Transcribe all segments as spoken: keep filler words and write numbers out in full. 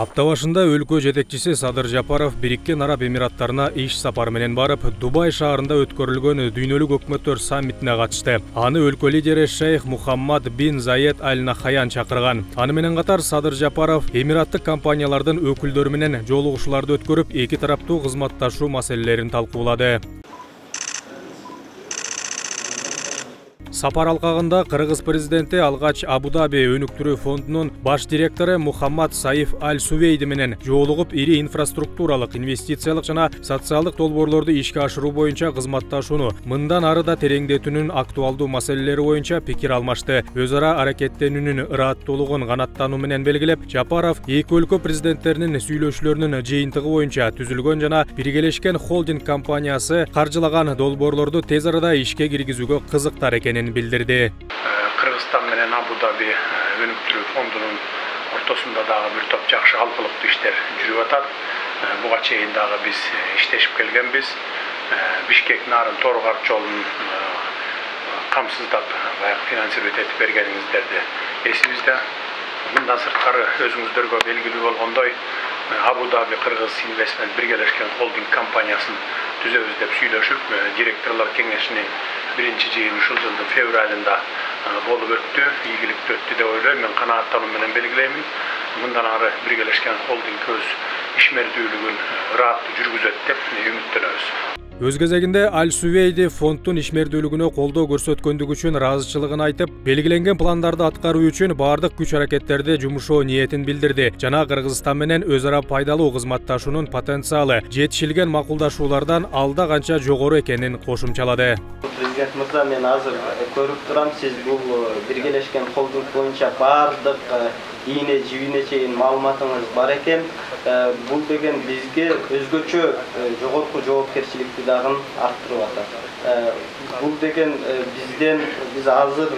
Апта башында өлкө жетекчиси Садыр Жапаров Бириккен Араб Эмираттарына иш сапары менен барып, Дубай шаарында өткөрүлгөн дүйнөлүк өкмөттөр саммитине катышты. Аны өлкө лидери Шейх Мухаммад бин Заед Аль Нахаян чакырган. Аны менен катар Садыр Жапаров эмираттык компаниялардын өкүлдөрү менен жолугушууларды өткөрүп, эки тараптуу кызматташуу маселелерин талкуулады. Сапар алкагында Кыргыз президенти алгач Абу-Даби өнүктүрүү фондунун баш директору Мухаммад Саиф Аль Сувейди менен жолугуп, ири инфраструктуралык, инвестициялык жана социалдык долбоорлорду ишке ашыруу боюнча кызматташууну мындан ары да тереңдетүүнүн актуалдуу маселелери боюнча пикир алмашты. Өз ара аракеттенүүнүн ырааттуулугун канаттануу менен белгилеп, Жапаров эки өлкө президенттеринин сүйлөшүүлөрүнүн жыйынтыгы боюнча түзүлгөн жана биргелешкен холдинг компаниясы каржылаган долбоорлорду тез арада ишке киргизүүгө кызыктар экенин билдирди. Кыргызстан менен Абу-Даби өнүктүрүү фондунун ортосунда дагы бир топ жакшы алкылыктуу иштер жүрүп атат. Буга чейин дагы биз иштешип келгенбиз. Бишкек нарын Торгар жолун камсыздап, баягы финансировать этип бергениңиздерди эсибизде. Мындан сырткары өзүңүздөргө белгилүү болгондой, Абу-Даби Кыргыз инвестмент биргелешкен холдинг компаниясын түзөбүз деп сүйлөшүп, директорлор кеңешинин биринчи жыйыны ушул жылдын февралында болуп өттү, ийгиликтүү өттү деп ойлойм. Мен канааттануу менен белгилеймин. Мындан ары биргелешкен холдинг өз ишмердүүлүгүн ырааттуу жүргүзөт деп үмүттөнөбүз. Өз кезегинде Аль Сувейди фонддун ишмердүүлүгүнө колдоо көрсөткөндүгү үчүн ыраазычылыгын айтып, белгиленген пландарды аткаруу үчүн баардык күч-аракеттерди жумушоо ниетин билдирди жана Кыргызстан менен өз ара пайдалуу кызматташуунун потенциалы жетишилген макулдашуулардан алда канча жогору экенин кошумчалады. Президент мырза, мен азыр көрүп турам, сиз бул биргелешкен холдинг боюнча баардык ийне жибине чейин маалыматыңыз бар экен. Бул деген бизге өзгөчө жогорку жоопкерчиликти дагы арттырып атат. Бул деген бизден биз азыр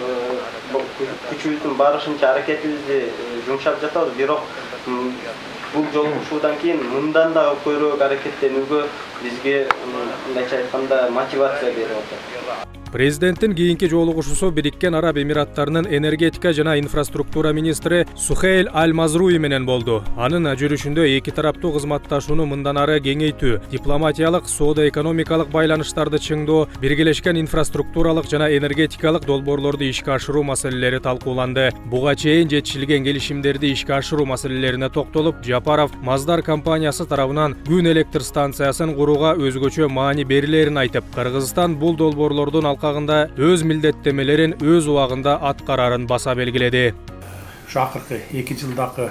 күчүбүздүн барышынча аракетибизди жумшап жатабыз, бирок бул жолугушуудан кийин мындан дагы көбүрөөк аракеттенүүгө бизге мындайча айтканда мотивация берип атат. Президенттин кийинки жолугушуусу Бириккен Араб Эмираттарынын энергетика жана инфраструктура министри Сухейл Аль Мазруи менен болду. Анын жүрүшүндө эки тараптуу кызматташууну мындан ары кеңейтүү, дипломатиялык, соода-экономикалык байланыштарды чыңдоо, биргелешкен инфраструктуралык жана энергетикалык долбоорлорду ишке ашыруу маселелери талкууланды. Буга чейин жетишилген келишимдерди ишке ашыруу маселелерине токтолуп, Жапаров Маздар компаниясы тарабынан күн электр станциясын курууга өзгөчө маани берилерин айтып, Кыргызстан бул долбоорлордун алкагында өз милдеттемелерин өз убагында аткарарын баса белгиледи. Ушу акыркы эки жылдагы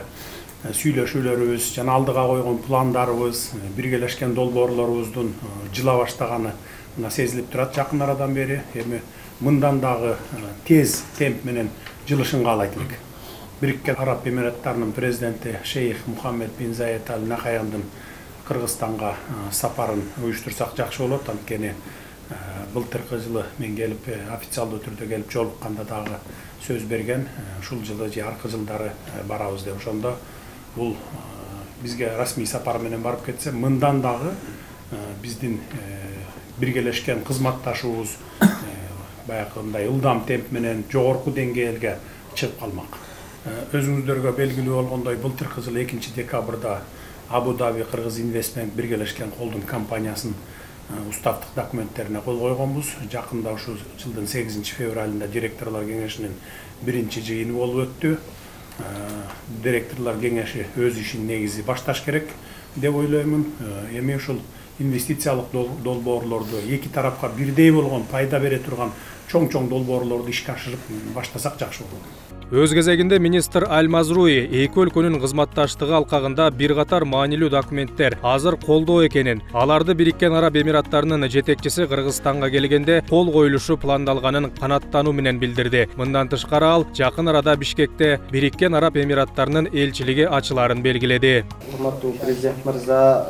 сүйлөшүүлөрүбүз жана алдыга койгон пландарыбыз, биргелешкен долбоорлорубуздун жыла баштаганы мына сезилип турат жакын арадан бери. Эми мындан дагы тез темп менен жылышын каалайт элек. Бириккен Араб Эмираттарынын президенти Шейх Мухаммад бин Заед Аль Нахаяндын Кыргызстанга сапарын уюштурсак жакшы болот. Анткени былтыркы жылы мен келип официалдуу түрдө келип жолукканда дагы сөз берген, ушул жылы же аркы жылдары барабыз деп. Ошондо бул бизге расмий сапар менен барып кетсе, мындан дагы биздин биргелешкен кызматташуубуз баягындай ылдам темп менен жогорку деңгээлге чыгып калмак. Өзүңүздөргө белгилүү болгондой, былтыркы жылы экинчи декабрда Абу-Даби Кыргыз инвестмент биргелешкен холдинг компаниясынын уставдык документтерине кол койгонбуз. Жакында ушул жылдын сегизинчи февралында директорлор кеңешинин биринчи жыйыны болуп өттү. Директорлор кеңеши өз ишин негизи башташ керек деп ойлоймун. Эми ушул инвестициялык долбоорлорду эки тарапка бирдей болгон пайда бере турган чоң-чоң долбоорлорду ишке ашырып баштасак жакшы болот. Өз кезегинде министр Аль Мазруи эки өлкөнүн кызматташтыгы алкагында бир катар маанилүү документтер азыр колдоо экенин, аларды Бириккен Араб Эмираттарынын жетекчиси Кыргызстанга келгенде кол коюлушу пландалганын канааттануу менен билдирди. Мындан тышкары ал жакын арада Бишкекте Бириккен Араб Эмираттарынын элчилиги ачыларын белгиледи. Урматтуу президент мырза,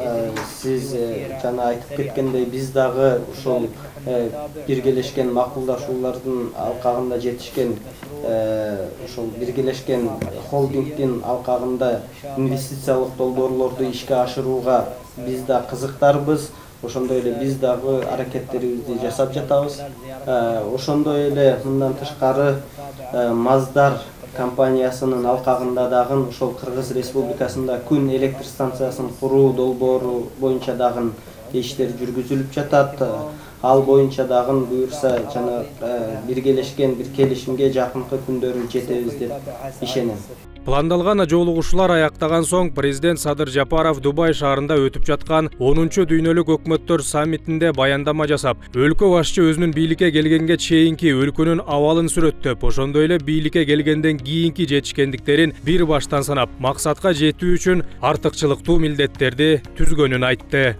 сиз жана айтып кеткендей, биз дагы ушул биргелешкен макулдашуулардын алкагында жетишкен ошол биргелешкен холдингдин алкагында инвестициялык долбоорлорду ишке ашырууга биз да кызыктарбыз. Ошондой эле биз дагы аракеттерибизди жасап жатабыз. Ошондой эле мындан тышкары Маздар компаниясынын алкагында дагы ошол Кыргыз Республикасында күн электр станциясын куруу долбоору боюнча дагы иштер жүргүзүлүп жатат. Ал боюнча дагы буюрса жана биргелешкен бир келишимге жакынкы күндөрү жетебиз деп ишенем. Пландалган жолугушуулар аяктаган соң президент Садыр Жапаров Дубай шаарында өтүп жаткан онунчу дүйнөлүк өкмөттөр саммитинде баяндама жасап, өлкө башчы өзүнүн бийликке келгенге чейинки өлкөнүн абалын сүрөттөп, ошондой эле бийликке келгенден кийинки жетишкендиктерин бир баштан санап, максатка жетүү үчүн артыкчылыктуу милдеттерди түзгөнүн айтты.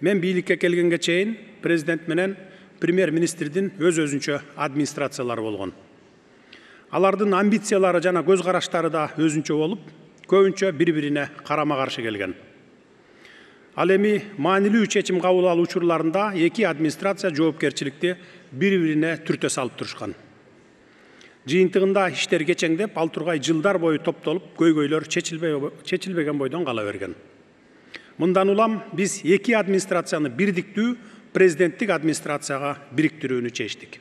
Мен бийликке келгенге чейин президент менен премьер-министрдин өз-өзүнчө администрациялары болгон. Алардын амбициялары жана көз караштары да өзүнчө болуп, көбүнчө бири-бирине карама-каршы келген. Ал эми маанилүү чечим кабыл алуу учурларында эки администрация жоопкерчиликти бири-бирине түртө салып турушкан. Жыйынтыгында иштер кечеңдеп, ал тургай жылдар бою топтолуп, көйгөйлөр чечилбеген бойдон кала берген. Мындан улам биз эки администрацияны бирдиктүү президенттик администрацияга бириктирүүнү чечтик.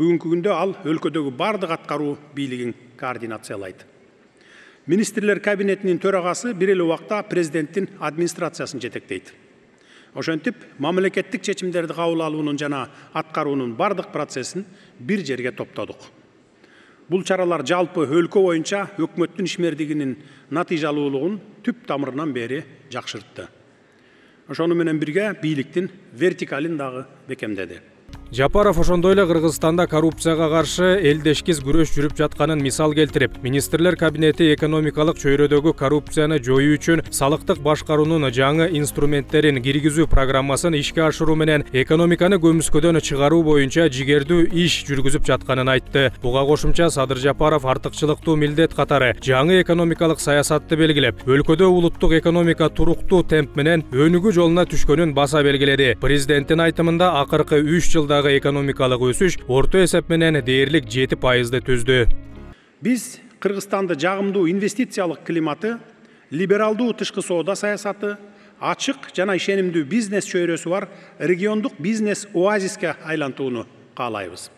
Бүгүнкү күндө ал өлкөдөгү бардык аткаруу бийлигин координациялайт. Министрлер кабинетинин төрагасы бир эле убакта президенттин администрациясын жетектейт. Ошентип, мамлекеттик чечимдерди кабыл алуунун жана аткаруунун бардык процессин бир жерге топтодук. Бул чаралар жалпы өлкө боюнча өкмөттүн ишмердигинин натыйжалуулугун түп тамырынан бери жакшыртты. Ошону менен бирге бийликтин вертикалин дагы бекемдеди. Жапаров ошондой эле Кыргызстанда коррупцияга каршы элдешкиз күрөш жүрүп жатканын мисал келтирип, министрлер кабинети экономикалык чөйрөдөгү коррупцияны жоюу үчүн салыктык башкаруунун жаңы инструменттерин киргизүү программасын ишке ашыруу менен экономиканы көмүскөдөн чыгаруу боюнча жигердүү иш жүргүзүп жатканын айтты. Буга кошумча Садыр Жапаров артыкчылыктуу милдет катары жаңы экономикалык саясатты белгилеп, өлкөдө улуттук экономика туруктуу темп менен өнүгүү жолуна түшкөнүн баса белгиледи. Президенттин айтымында акыркы үч жылда экономикалык өсүш орто эсеп менен дээрлик жети пайызды түздү. Биз Кыргызстанды жагымдуу инвестициялык климаты, либералдуу тышкы соода саясаты, ачык жана ишенимдүү бизнес чөйрөсү бар региондук бизнес оазиске айлантууну каалайбыз.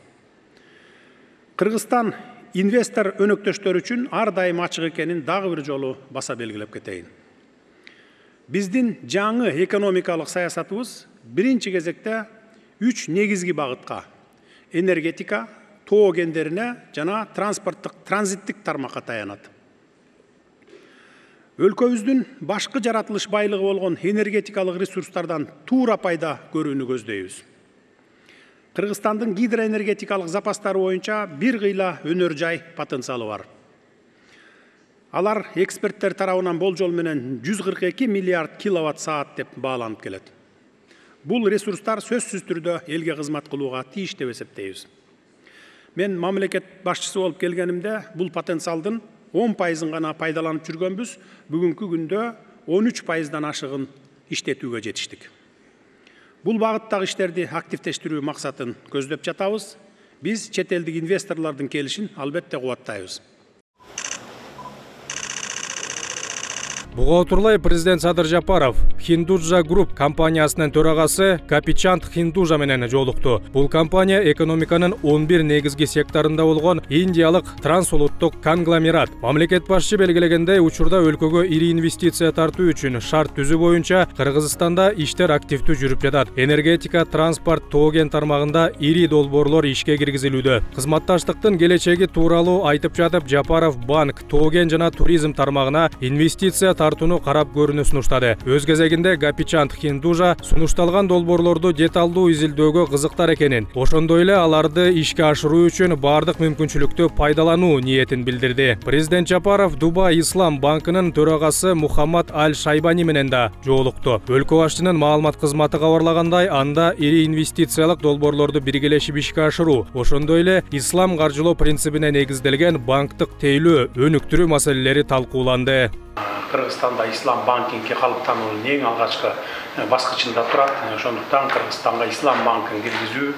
Кыргызстан инвестор өнөктөштөр үчүн ар дайым ачык экенин дагы бир жолу баса белгилеп кетейин. Биздин жаңы экономикалык саясатыбыз биринчи кезекте үч негизги багытка – энергетика, тоо кендерине жана транспорттук транзиттик тармакка таянат. Өлкөбүздүн башкы жаратылыш байлыгы болгон энергетикалык ресурстардан туура пайда көрүүнү көздөйбүз. Кыргызстандын гидроэнергетикалык запастары боюнча бир кыйла өнөр жай потенциалы бар. Алар эксперттер тарабынан болжол менен жүз кырк эки миллиард киловатт саат деп бааланып келет. Бул ресурстар сөзсүз түрдө элге кызмат кылууга тийиш деп эсептейбиз. Мен мамлекет башчысы болуп келгенимде бул потенциалдын он пайызын гана пайдаланып жүргөнбүз, бүгүнкү күндө он үч пайыздан ашыгын иштетүүгө жетиштик. Бул багыттагы иштерди активдештирүү максатын көздөп жатабыз. Биз чет элдик инвесторлордун келишин албетте кубаттайбыз. Буга отурлай президент Садыр Жапаров Хиндуджа Груп компаниясынын төрагасы Капичанд Хиндужа менен жолукту. Бул компания экономиканын он бир негизги секторунда болгон индиялык трансулуттук конгломерат. Мамлекет башчы белгилегендей, учурда өлкөгө ири инвестиция тартуу үчүн шарт түзүү боюнча Кыргызстанда иштер активдүү жүрүп жатат. Энергетика, транспорт, тоо кен тармагында ири долбоорлор ишке киргизилүүдө. Кызматташтыктын келечеги тууралуу айтып жатып, Жапаров банк, тоо кен жана туризм тармагына инвестиция тартууну карап көрүүнү сунуштады. Өз кезегинде Капичанд Хиндужа сунушталган долбоорлорду деталдуу изилдөөгө кызыктар экенин, ошондой эле аларды ишке ашыруу үчүн бардык мүмкүнчүлүктү пайдалануу ниетин билдирди. Президент Жапаров Дубай Ислам банкынын төрагасы Мухаммад Аль Шайбани менен да жолукту. Өлкө башчынын маалымат кызматы кабарлагандай, анда ири инвестициялык долбоорлорду биргелешип ишке ашыруу, ошондой эле ислам каржылоо принцибине негизделген банктык тейлөө, өнүктүрүү маселелери талкууланды. Кыргызстанда ислам банкинги калыптануунун эң алгачкы баскычында турат. Ошондуктан Кыргызстанга ислам банкын киргизүү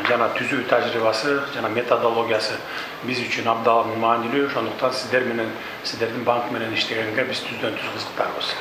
жана түзүү тажрыйбасы жана методологиясы биз үчүн абдан маанилүү. Ошондуктан сиздер менен, сиздердин банк менен иштегенге биз түздөн түз кызыктарбыз.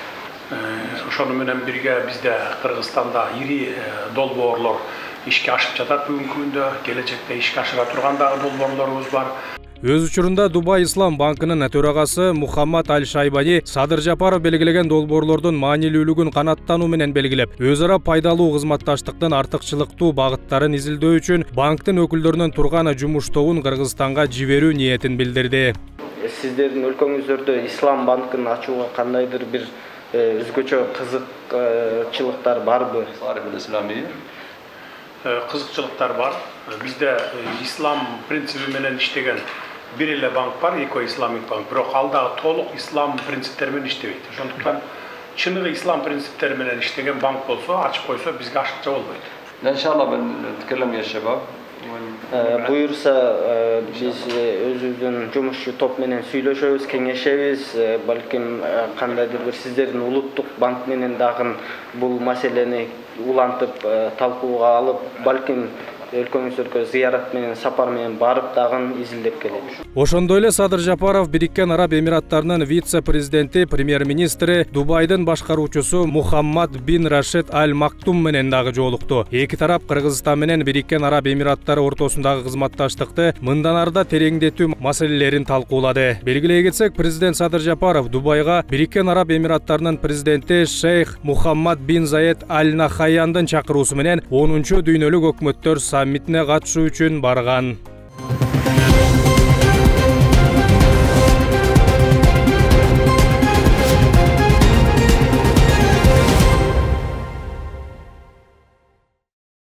Ошону менен бирге бизде Кыргызстанда ири долбоорлор ишке ашып жатат бүгүнкү күндө, келечекте ишке ашыра турган дагы долбоорлорубуз бар. Өз учурунда Дубай Ислам банкынын төрагасы Мухаммад Аль Шайбани Садыр Жапаров белгилеген долбоорлордун маанилүүлүгүн канааттануу менен белгилеп, өз ара пайдалуу кызматташтыктын артыкчылыктуу багыттарын изилдөө үчүн банктын өкүлдөрүнүн турган жумуш тобун Кыргызстанга жиберүү ниетин билдирди. Сиздердин өлкөңүздөрдө Ислам банкын ачууга кандайдыр бир өзгөчө кызыкчылыктар барбы? Кызыкчылыктар бар. Бизде ислам принциби менен иштеген бир эле банк бар, Eco Islamic банк. Бирок ал дагы толук ислам принциптери менен иштебейт. Ошондуктан чыныгы ислам принциптери менен иштеген банк болсо, ачып койсо бизге ашыкча болбойт. İnşallah ben نتكلم يا شباب. Буюрса биз өзүбүздүн жумушчу топ менен сүйлөшөбүз, кеңешебиз, балким кандайдыр бир сиздердин улуттук банк менен дагы бул маселени улантып талкууга алып, балким өлкөңүздөргө зыярат менен, сапар менен барып дагы изилдеп келебиз. Ошондой эле Садыр Жапаров Бириккен Араб Эмираттарынын вице-президенти, премьер-министри, Дубайдын башкаруучусу Мухаммад бин Рашид Аль Мактум менен дагы жолукту. Эки тарап Кыргызстан менен Бириккен Араб Эмираттары ортосундагы кызматташтыкты мындан арда тереңдетүү маселелерин талкуулады. Белгилей кетсек, президент Садыр Жапаров Дубайга Бириккен Араб Эмираттарынын президенти Шейх Мухаммад бин Заед Аль Нахаяндын чакыруусу менен онунчу дүйнөлүк өкмөттөр саммитине катышуу үчүн барган.